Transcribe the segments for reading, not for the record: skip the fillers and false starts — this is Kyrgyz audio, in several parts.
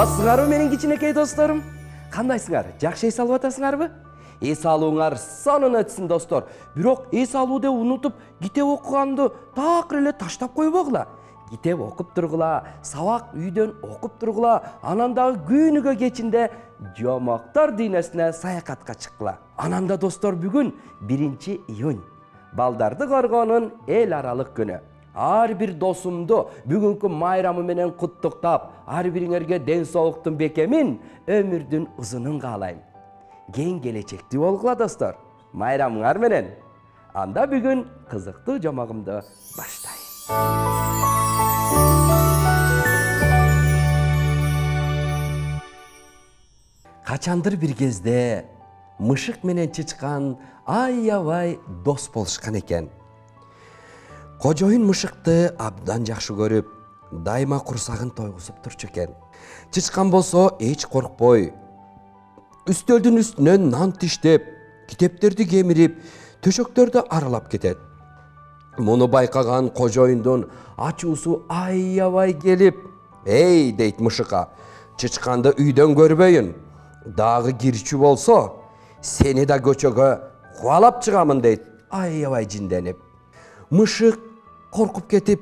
Саламатсыңарбы менин кичинекей досторум? Кандайсыңар? Жакшы эс алып атасыңарбы? Эс алууңар сонун өтсүн достор. Бирок эс алууду унутуп, китеп окуганды такыр эле таштап койбогула. Китеп окуп тургула, сабак үйдөн окуп тургула, анан дагы күнүгө кечинде жомоктор дүйнөсүнө саякатка чыккыла. Анан да достор, бүгүн 1-июнь. Балдарды коргоонун эл аралык күнү. Ар бир досумду бүгүнкү майрамы менен куттуктап, ар бириңерге ден соолуктун бекемин, өмүрдүн узунун каалайм. Кең келечектүү болгула достор. Майрамыңар менен. Анда бүгүн кызыктуу жомогумду баштайм. Качандыр бир кезде мышык менен чычкан аябай дос болушкан экен. Кожоюн мышыкты абдан жакшы көрүп, дайыма курсагын тойгузуп турчу экен. Чычкан болсо эч коркпой, үстөлдүн үстүнөн нан тиштеп, китептерди кемирип, төшөктөрдү аралап кетет. Муну байкаган кожоюндун ачуусу аябай келип, «Эй!» дейт мышыкка, «Чычканды үйдөн көрбөйүн. Дагы кирчү болсо, сени да көчөгө кубалап чыгамын» дейт, аябай жинденип. Мышык коркуп кетип,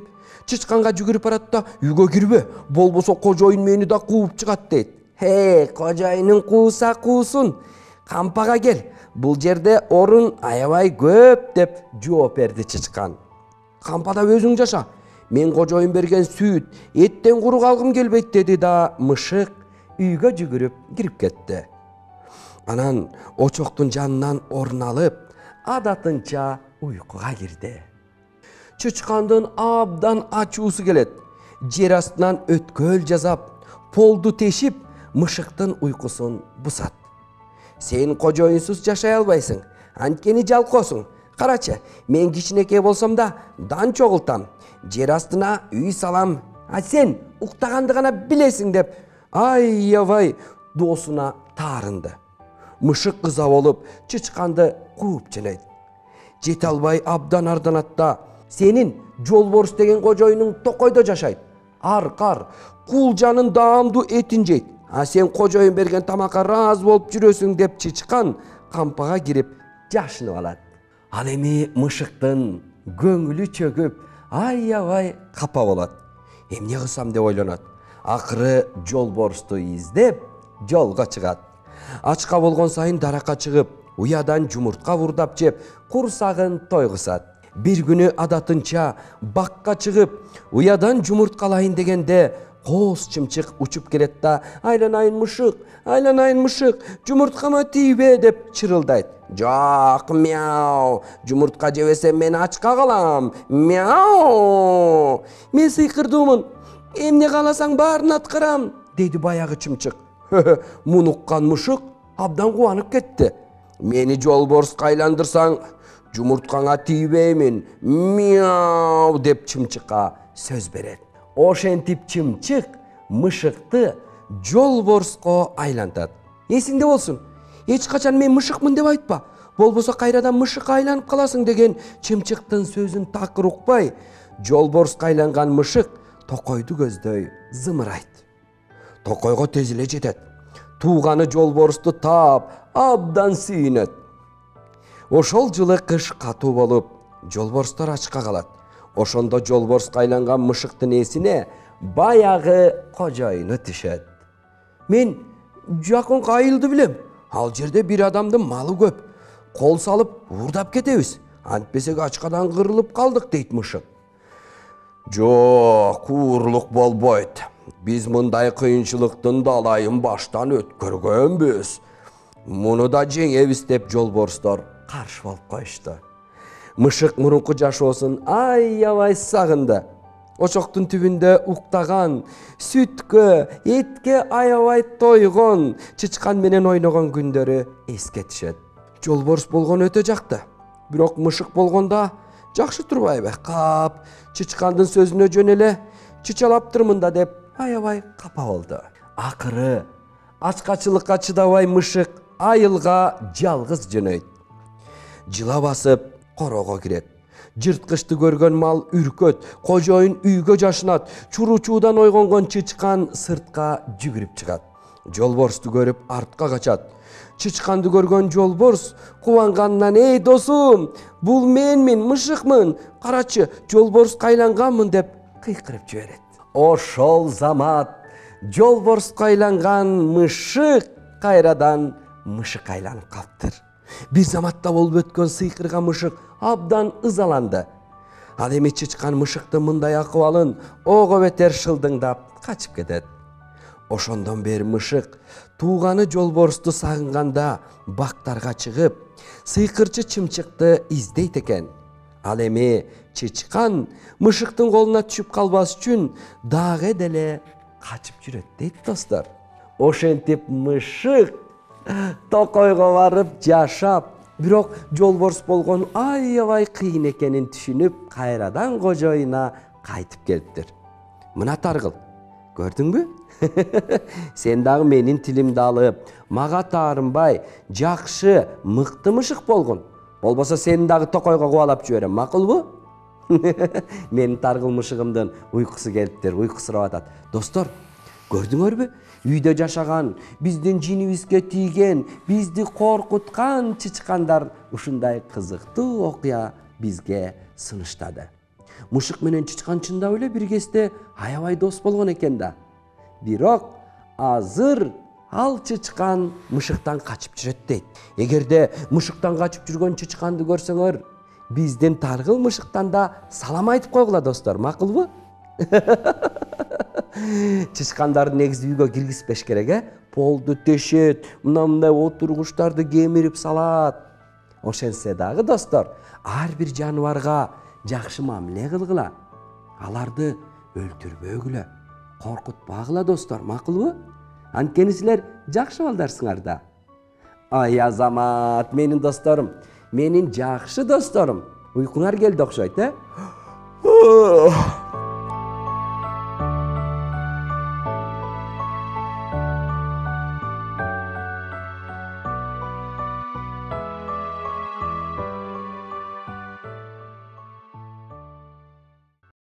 чычканга жүгүрүп барат да, «Үйгө кирбе, болбосо кожоюн мени да кууп чыгат» дейт. Кожоюнун кууса куусун, кампага кел, бул жерде орун аябай көп» деп жооп берди чычкан. «Кампада өзүң жаша, мен кожоюн берген сүт, эттен куру калгым келбейт» деди да мышык үйгө жүгүрүп кирип кетти. Анан очоктун жанынан орун алып, адатынча уйкуга кирди. Чычкандын абдан ачуусу келет. Жер астынан өткөл жасап, полду тешип, мышыктын уйкусун бусат. «Сен кожоюнсуз жашай албайсың, анткени жалкоосуң. Карачы, мен кичинекей болсом да дан чогултам, жер астына үй салам, а сен уктаганды гана билесиң» деп аябай доосуна таарынды. Мышык ыза болуп, чычканды кууп жөнөйт. Жете албай абдан арданат да, «Сенин жолборс деген кожоюнуң токойдо жашайт. Аркар, кулжанын даамдуу этин жейт. А сен кожоюн берген тамакка ыраазы болуп жүрөсүң» деп чычкан кампага кирип жашынып алат. Ал эми мышыктын көңүлү чөгүп, аябай капа болот. Эмне кылсам деп ойлонот. Акыры жолборсту издеп, жолго чыгат. Ачка болгон сайын даракка чыгып, уядан жумуртка вурдап жеп, курсагын тойгузат. Бир күнү адатынча бакка чыгып, уядан жумурткалайын дегенде, кооз чымчык учуп келет да, «Айланайын мышык, жумурткама тийбе» деп чырылдайт. «Жок, мяу, жумуртка жебесем мен ачка калам, мяу. Мен сыйкырдуумун, эмне кааласаң баарын аткарам» дейди баягы чымчык. Муну уккан мышык абдан кубанып кетти. «Мени жолборска айландырсаң, жумурткаңа тийбеймин, мяу» деп чымчыкка сөз берет. Ошентип чымчык мышыкты жолборско айлантат. «Эсиңде болсун, эч качан мен мышыкмын деп айтпа, болбосо кайрадан мышыкка айланып каласың» деген чымчыктын сөзүн такыр укпай, жолборска айланган мышык токойду көздөй зымырайт. Токойго тез эле жетет. Тууганы жолборсту таап, абдан сүйүнөт. Ошол жылы кыш катуу болуп, жолборстор ачка калат. Ошондо жолборска айланган мышыктын эсине баягы кожоюну түшөт. «Мен жакынкы айылды билем. Ал жерде бир адамдын малы көп. Кол салып уурдап кетебиз. Антпесек ачкадан кырылып калдык» дейт мышык. «Жок, уурлук болбойт. Биз мындай кыйынчылыктын далайын баштан өткөргөнбүз. Муну да жеңебиз» деп жолборстор каршы болуп коюшту. Мышык мурунку жашоосун аябай сагынды. Очоктун түбүндө уктаган, сүткө, этке аябай тойгон, чычкан менен ойногон күндөрү эске түшөт. Жолборс болгон өтө жакты. Бирок мышык болгондо жакшы турбайбы? Кап, чычкандын сөзүнө жөн эле чычалаптырмын да деп аябай капа болду. Акыры ачкачылыкка чыдабай мышык айылга жалгыз жөнөйт. Жыла басып корого кирет. Жырткычты көргөн мал үркөт, кожоюн үйгө жашынат, чуручуудан ойгонгон чычкан сыртка жүгүрүп чыгат. Жолборсту көрүп артка качат. Чычканды көргөн жолборс кубанганынан: "Эй досум, бул менмин, мышыкмын. Карачы, жолборско айланганмын" деп кыйкырып жиберет. Ошол замат жолборско айланган мышык кайрадан мышык айланып калыптыр. Бир заматта болуп өткөн сыйкырган мышык абдан ызаланды. Ал эми чычкан мышыктын мындай акыбалын ого бетер шылдыңдап качып кетет. Ошондон бери мышык тууганы жолборсту сагынганда бактарга чыгып, сыйкырчы чымчыкты издейт экен. Ал эми чычкан мышыктын колуна түшүп калбас үчүн дагы деле качып жүрөт дейт достор. Ошентип мышык токойго барып жашап, бирок жолборс болгон аябай кыйын экенин түшүнүп, кайрадан кожоюна кайтып келиптир. Мына Таргыл, көрдүңбү? Сен дагы менин тилимди алып, мага таарынбай, жакшы, мыкты мышык болгун. Болбосо сени дагы токойго кубалап жиберем, макулбу? Менин Таргыл мышыгымдын уйкусу келиптир, уйкусурап атат. Достор, көрдүңөрбү? Үйдө жашаган, биздин жинибизге тийген, бизди коркуткан чычкандар ушундай кызыктуу окуя бизге сунуштады. Мышык менен чычкан чындап эле бир кезде аябай дос болгон экен да. Бирок азыр ал чычкан мышыктан качып жүрөт дейт. Эгерде мышыктан качып жүргөн чычканды көрсөңөр, биздин Таргыл мышыктан да салам айтып койгула достор, макулбу? Чычкандарды негизи үйгө киргизбеш керек, полду тешет, мындай отургучтарды кемирип салат. Ошентсе дагы достор, ар бир жаныбарга жакшы мамиле кылгыла. Аларды өлтүрбөгүлө, коркутпагыла достор, макулбу? Анткени силер жакшы балдарсыңар да. Ай азамат, менин досторум, менин жакшы досторум. Уйкуңар келди окшойт,